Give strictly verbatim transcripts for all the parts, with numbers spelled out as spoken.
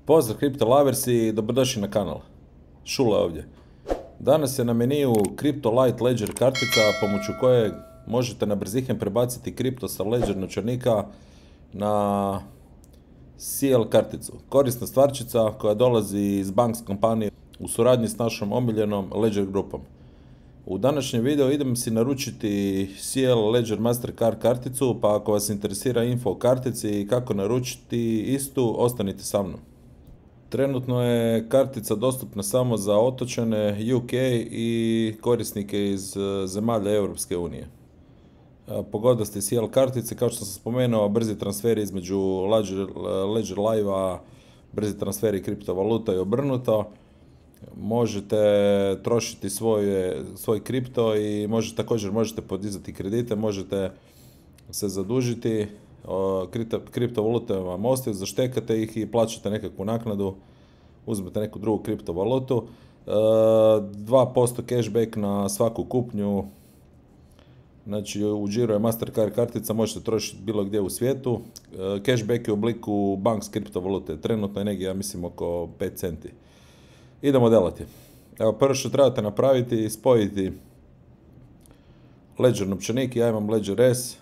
Pozdrav Crypto Lovers i dobrodošli na kanal. Šule ovdje. Danas je na meniju Crypto Light Ledger kartica pomoću koje možete na brzihem prebaciti kripto sa Ledger novčanika na C L karticu. Korisna stvarčica koja dolazi iz Banks kompanije u suradnji s našom omiljenom Ledger grupom. U današnjem videu idem si naručiti C L Ledger Mastercard karticu, pa ako vas interesira info o kartici i kako naručiti istu, ostanite sa mnom. Trenutno je kartica dostupna samo za otočane, U K i korisnike iz zemalja Europske unije. Pogodnosti C L kartice, kao što sam spomenuo, brzi transferi između Ledger, Ledger Live-a, brzi transferi kriptovaluta i obrnuto. Možete trošiti svoje, svoj kripto i možete, također možete podizati kredite, možete se zadužiti, kripto, kriptovalute vam ostaju, zaštekate ih i plaćate nekakvu naknadu, uzmete neku drugu kriptovalutu, dva posto cashback na svaku kupnju. Znači u Giro je Mastercard kartica, možete trošiti bilo gdje u svijetu. Cashback je u obliku Banks kriptovalute, trenutno je negdje, ja mislim, oko pet centi. Idemo delati. Evo, prvo što trebate napraviti je spojiti Ledger novčanik, ja imam Ledger S,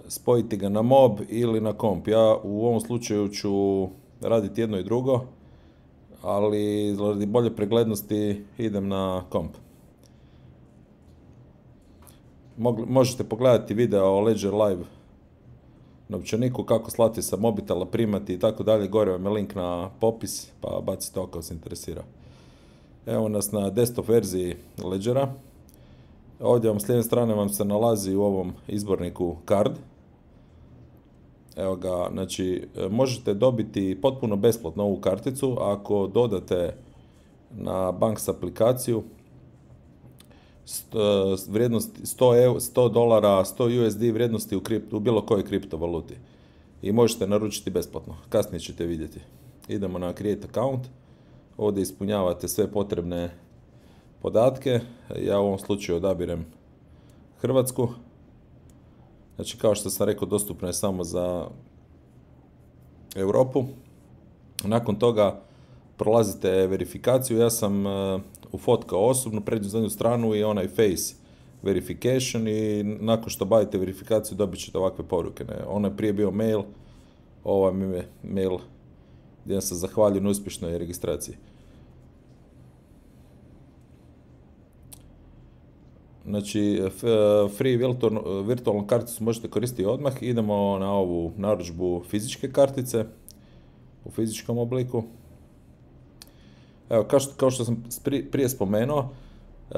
spojiti ga na mob ili na komp. Ja u ovom slučaju ću raditi jedno i drugo, ali radi bolje preglednosti idem na komp. Možete pogledati video o Ledger Live novčaniku, kako slati sa mobitela, primati i tako dalje. Gore vam je link na popis, pa bacite oko ako se interesira. Evo nas na desktop verziji Ledgera. Ovdje vam s lijeve strane vam se nalazi u ovom izborniku card. Evo ga, znači možete dobiti potpuno besplatno ovu karticu ako dodate na Banks aplikaciju vrijednosti sto dolara, sto U S D vrijednosti u, kripto, u bilo kojoj kriptovaluti. I možete naručiti besplatno. Kasnije ćete vidjeti. Idemo na Create Account. Ovdje ispunjavate sve potrebne podatke. Ja u ovom slučaju odabirem Hrvatsku. Znači, kao što sam rekao, dostupno je samo za Europu. Nakon toga prolazite verifikaciju. Ja sam ufotkao osobno prednju zadnju stranu i onaj face verification i nakon što obavite verifikaciju dobit ćete ovakve poruke. Ne? Ono je prije bio mail, ovo mi je mail gdje se zahvaljujem na uspješnoj registraciji. Znači, free virtualnu karticu možete koristiti odmah. Idemo na ovu narudžbu fizičke kartice u fizičkom obliku. Evo, kao što, kao što sam prije spomenuo, e,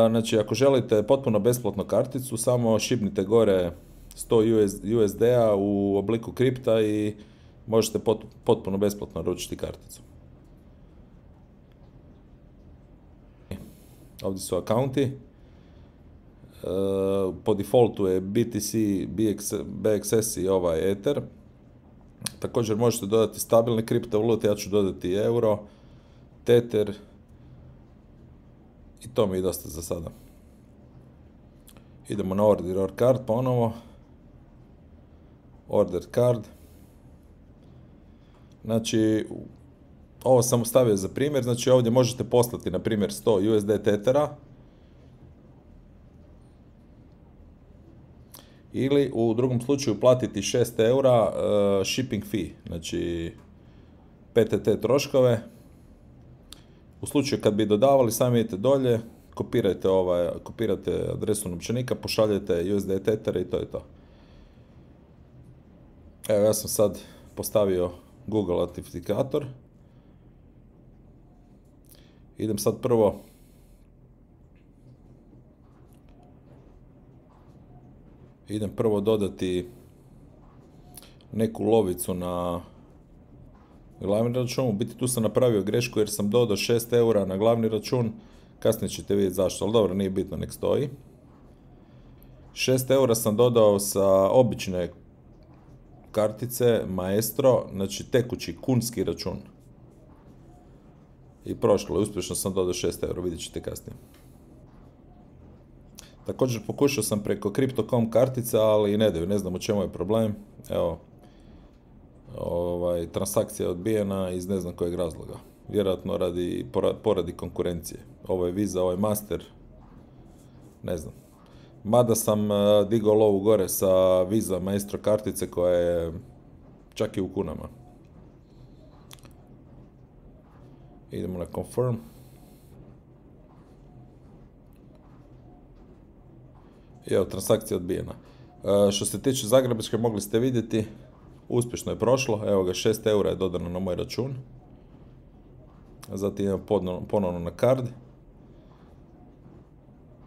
znači ako želite potpuno besplatnu karticu, samo šibnite gore sto U S D-a u obliku kripta i možete pot, potpuno besplatno naručiti karticu. Ovdje su akaunti. E, po defaultu je B T C, B X S i ovaj Ether. Također možete dodati stabilne kriptovalute, ja ću dodati euro, Tether i to mi je dosta za sada. Idemo na order or card ponovo. Order card. Znači, ovo sam stavio za primjer, znači ovdje možete poslati na primjer sto U S D Tethera ili u drugom slučaju platiti šest eura uh, shipping fee, znači P T T troškove. U slučaju kad bi dodavali, sami idete dolje, kopirajte, ovaj, kopirate adresu novčanika, pošaljete U S D Tether i to je to. Evo, ja sam sad postavio Google autentifikator. Idem sad prvo idem prvo dodati neku lovicu na glavni račun. U biti tu sam napravio grešku jer sam dodao šest eura na glavni račun, kasnije ćete vidjeti zašto, ali dobro, nije bitno, nek stoji. šest eura sam dodao sa obične kartice Maestro, znači tekući kunski račun. I prošlo je, uspješno sam dodao šest eura, vidjet ćete kasnije. Također pokušao sam preko Crypto dot com kartica, ali ne daju, ne znam u čemu je problem. Evo, ovaj, ovaj, transakcija odbijena iz ne znam kojeg razloga. Vjerojatno radi, poradi konkurencije. Ovo je Visa, ovo je Master, ne znam. Mada sam uh, digao lovu gore sa Visa Maestro kartice koja je čak i u kunama. Idemo na confirm. I evo, transakcija odbijena. Uh, što se tiče Zagrebačke, mogli ste vidjeti, uspješno je prošlo. Evo ga, šest eura je dodano na moj račun. Zatim idemo ponovno na card.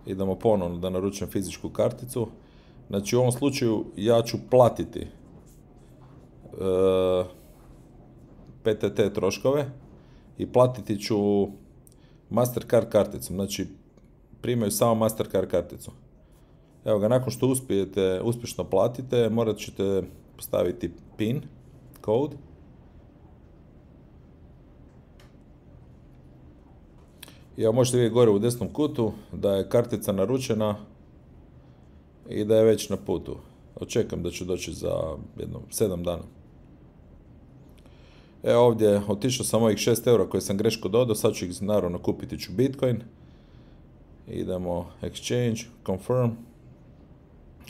Idemo ponovno da naručujem fizičku karticu. Znači u ovom slučaju ja ću platiti uh, P T T troškove i platiti ću Mastercard karticom. Znači primaju samo Mastercard karticu. Evo ga, nakon što uspijete, uspješno platite, morat ćete postaviti PIN, code. I evo, možete vidjeti gore u desnom kutu da je kartica naručena i da je već na putu. Očekujem da će doći za jedno sedam dana. Evo ovdje, otišao sam ovih šest eura koje sam greško dodao, sad ću ih naravno kupiti ću Bitcoin. Idemo exchange, confirm.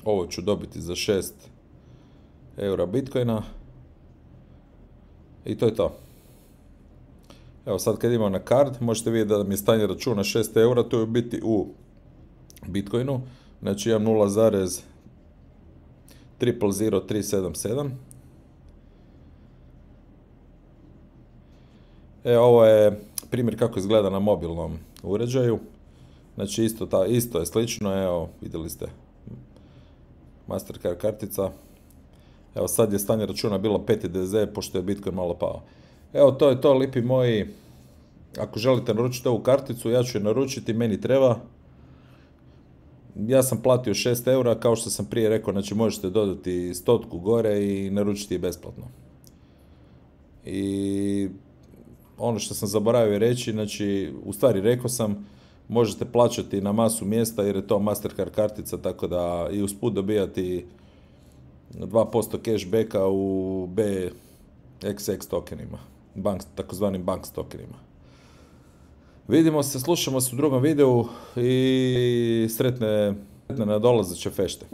Ovo ću dobiti za šest eura Bitcoina. I to je to. Evo sad kad imam na card, možete vidjeti da mi je stanje računa šest eura, to je biti u Bitcoinu. Znači imam nula zarez triple zero tri sedam sedam. E, ovo je primjer kako izgleda na mobilnom uređaju. Znači isto, ta, isto je slično, evo vidjeli ste Mastercard kartica. Evo sad je stanje računa bilo pet D Z pošto je Bitcoin malo pao. Evo to je to, lipi moji. Ako želite naručiti ovu karticu, ja ću je naručiti, meni treba. Ja sam platio šest eura, kao što sam prije rekao, znači možete dodati stotku gore i naručiti je besplatno. I ono što sam zaboravio reći, znači, u stvari rekao sam, možete plaćati na masu mjesta jer je to Mastercard kartica, tako da i usput dobijati dva posto cashbacka u B X X tokenima, bank, takozvanim bank tokenima. Vidimo se, slušamo se u drugom videu i sretne, sretne nadolazeće fešte.